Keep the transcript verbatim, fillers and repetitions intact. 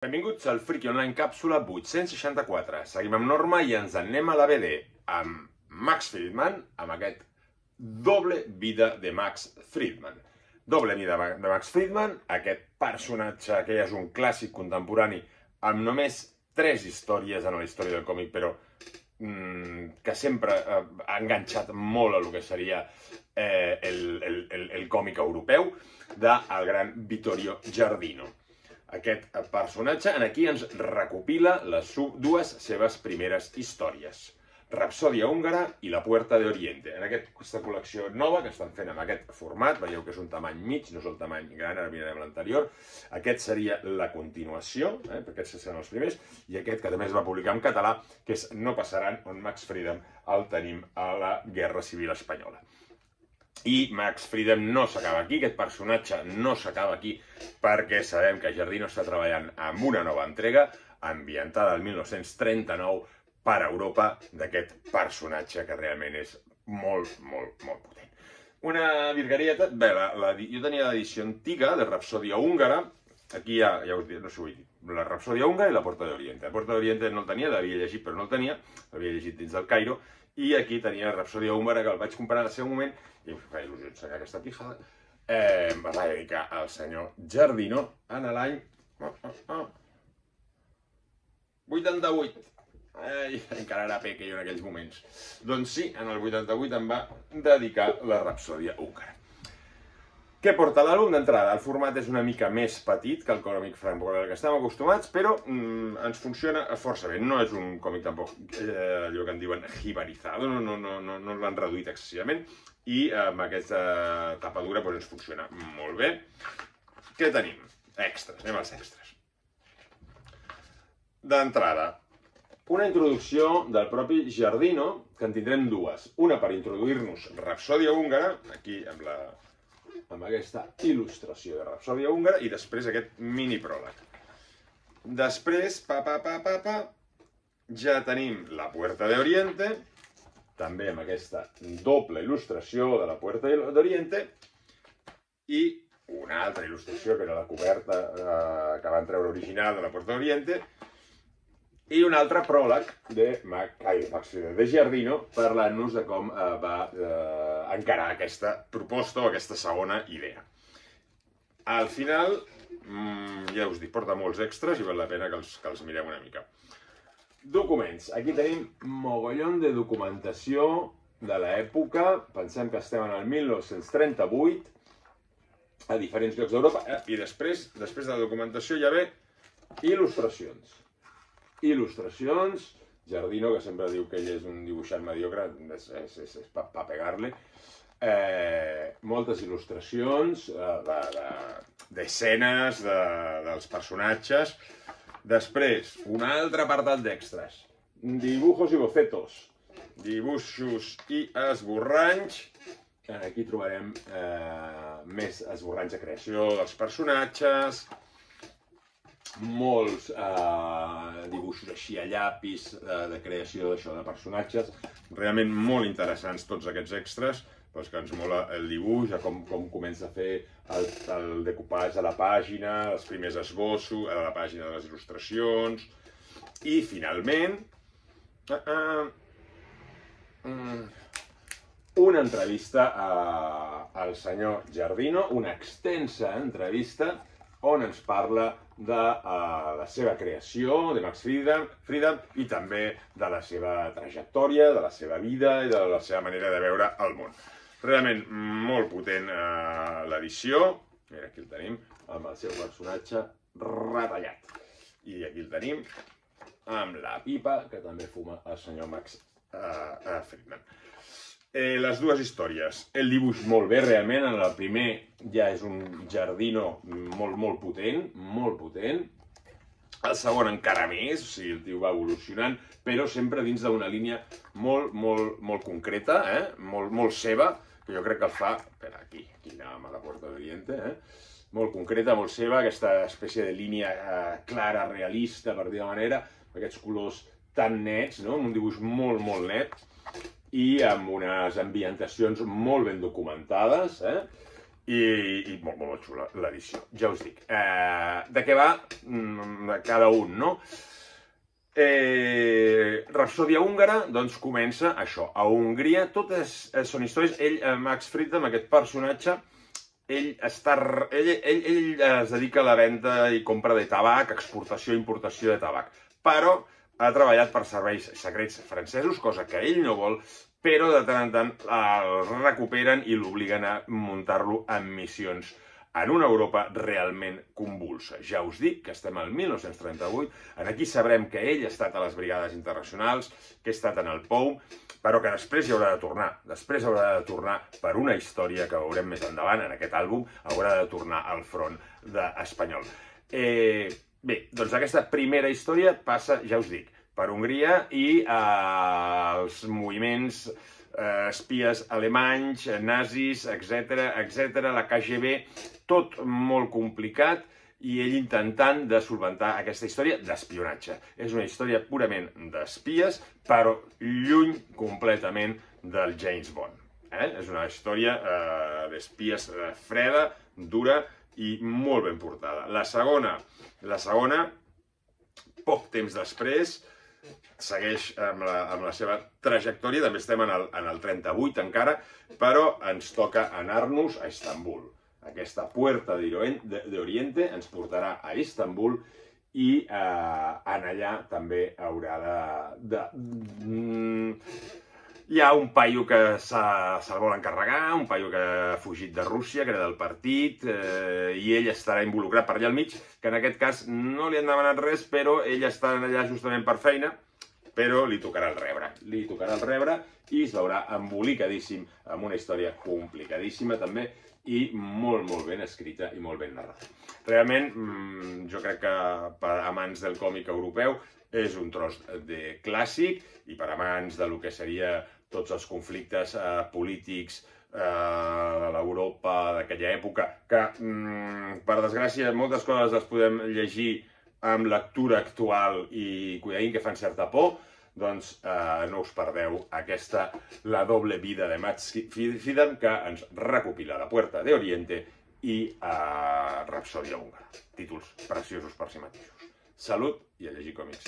Benvinguts al Friki Online càpsula vuit-cents seixanta-quatre. Seguim amb Norma i ens en anem a la B D amb Max Friedman, amb aquest Doble vida de Max Friedman. Doble vida de Max Friedman, aquest personatge que ja és un clàssic contemporani amb només tres històries en la història del còmic, però mmm, que sempre eh, ha enganxat molt a lo que seria eh, el, el, el, el còmic europeu, del gran Vittorio Giardino. Aquest personatge en aquí ens recopila les dues seves primeres històries, Rapsòdia húngara i La Puerta de Oriente. En aquesta col·lecció nova que estan fent amb aquest format, veieu que és un tamany mig, no és el tamany gran, ara mirarem l'anterior. Aquest seria la continuació, eh, perquè aquests seran els primers, i aquest que també es va publicar en català, que és No passaran, on Max Friedman el tenim a la Guerra Civil Espanyola. I Max Friedman no s'acaba aquí, aquest personatge no s'acaba aquí, perquè sabem que Giardino està treballant amb una nova entrega, ambientada al mil nou-cents trenta-nou, per a Europa, d'aquest personatge que realment és molt, molt, molt potent. Una virguerieta, bé, la, la, jo tenia l'edició antiga de Rapsòdia húngara, aquí ja, ja us dic, no sé, vull dir, la Rapsòdia húngara i La Puerta de Oriente. La Puerta de Oriente no el tenia, l'havia llegit però no el tenia, l'havia llegit dins del Cairo, i aquí tenia la Rapsòdia húngara, que el vaig comprar en el seu moment, i em fa il·lusió ensenyar aquesta pijada, eh, em va dedicar al senyor Giardino en l'any oh, oh, oh, vuitanta-vuit. Ai, encara era pequeño en aquells moments. Doncs sí, en el vuitanta-vuit em va dedicar la Rapsòdia húngara. Què porta l'àlbum d'entrada? El format és una mica més petit que el còmic franco-belga que estem acostumats, però mm, ens funciona força bé. No és un còmic tampoc eh, allò que en diuen jibarizado, no, no, no, no, no l'han reduït excessivament, i amb aquesta tapadura doncs, ens funciona molt bé. Què tenim? Extras, anem als extras. D'entrada, una introducció del propi Giardino, que en tindrem dues. Una per introduir-nos Rapsòdia húngara, aquí amb la... amb aquesta il·lustració de Rapsòdia húngara, i després aquest mini pròleg. Després, pa, pa, pa, pa, pa, ja tenim La Puerta de Oriente, també amb aquesta doble il·lustració de La Puerta de Oriente, i una altra il·lustració, que era la coberta eh, que van treure original de La Puerta de Oriente, i un altre pròleg de, Max, de Giardino, parlant-nos de com eh, va eh, encarar aquesta proposta o aquesta segona idea. Al final, mmm, ja us dic, porta molts extras i val la pena que els, que els mireu una mica. Documents. Aquí tenim mogollon de documentació de l'època. Pensem que estem en el mil nou-cents trenta-vuit, a diferents llocs d'Europa, eh, i després, després de la documentació ja ve il·lustracions. Il·lustracions, Giardino, que sempre diu que ell és un dibuixant mediocre, és, és, és, és pa, pa pegar-li. Eh, moltes il·lustracions d'escenes, de, de, dels personatges. Després, un altre apartat d'extras. Dibujos i bocetos. Dibuixos i esborranys. Aquí trobarem eh, més esborranys de creació dels personatges, molts eh, dibuixos així a llapis eh, de creació d'això de personatges, realment molt interessants tots aquests extras, però que ens mola el dibuix, com, com comença a fer el, el decupatge a la pàgina, els primers esbossos, a la pàgina de les il·lustracions, i finalment uh, uh, um, una entrevista a, al senyor Giardino, una extensa entrevista on ens parla de uh, la seva creació, de Max Friedman, Friedman, i també de la seva trajectòria, de la seva vida i de la seva manera de veure el món. Realment molt potent uh, l'edició. Mira, aquí el tenim, amb el seu personatge retallat. I aquí el tenim amb la pipa que també fuma el senyor Max uh, uh, Friedman. Eh, les dues històries. El dibuix molt bé, realment. En el primer ja és un Giardino molt, molt potent, molt potent. El segon encara més, o sigui, el tio va evolucionant, però sempre dins d'una línia molt, molt, molt concreta, eh? molt, molt seva, que jo crec que el fa... Espera, aquí, aquí anàvem a La Puerta de Oriente, eh? Molt concreta, molt seva, aquesta espècie de línia eh, clara, realista, per dir-ho manera, aquests colors tan nets, no? Un dibuix molt, molt net, i amb unes ambientacions molt ben documentades, eh? i, i molt, molt, molt xula l'edició, ja us dic. Eh, de què va? De cada un, no? Eh, Rapsòdia húngara, doncs comença això, a Hongria, totes són històries, ell, Max Friedman, aquest personatge, ell, està, ell, ell, ell es dedica a la venda i compra de tabac, exportació i importació de tabac, però ha treballat per serveis secrets francesos, cosa que ell no vol, però de tant en tant el recuperen i l'obliguen a muntar-lo en missions en una Europa realment convulsa. Ja us dic que estem al mil nou-cents trenta-vuit, aquí sabrem que ell ha estat a les brigades internacionals, que ha estat en el P O U, però que després hi haurà de tornar. Després haurà de tornar per una història que veurem més endavant en aquest àlbum, haurà de tornar al front espanyol. Eh, bé, doncs aquesta primera història passa, ja us dic, per Hongria i eh, els moviments eh, espies alemanys, nazis, etcètera, etcètera, la K G B, tot molt complicat, i ell intentant de solventar aquesta història d'espionatge. És una història purament d'espies, però lluny completament del James Bond. Eh? És una història eh, d'espies eh, freda, dura i molt ben portada. La segona, la segona, poc temps després, segueix amb la, amb la seva trajectòria, també estem en el, en el trenta-vuit encara, però ens toca anar-nos a Istanbul. Aquesta Puerta de Oriente ens portarà a Istanbul i eh, en allà també haurà de... de... Hi ha un paio que se'l vol encarregar, un paio que ha fugit de Rússia, que era del partit, eh, i ell estarà involucrat per allà al mig, que en aquest cas no li han demanat res, però ell està allà justament per feina, però li tocarà el rebre. Li tocarà el rebre i es veurà embolicadíssim amb una història complicadíssima també i molt, molt ben escrita i molt ben narrada. Realment, jo crec que per amants del còmic europeu és un tros de clàssic i per amants de lo que seria tots els conflictes eh, polítics eh, de l'Europa d'aquella època, que, mm, per desgràcia, moltes coses les podem llegir amb lectura actual i cuidadín que fan certa por, doncs eh, no us perdeu aquesta La doble vida de Max Friedman, que ens recopila La Puerta de Oriente i eh, Rapsòdia húngara. Títols preciosos per si mateixos. Salut i a llegir còmics.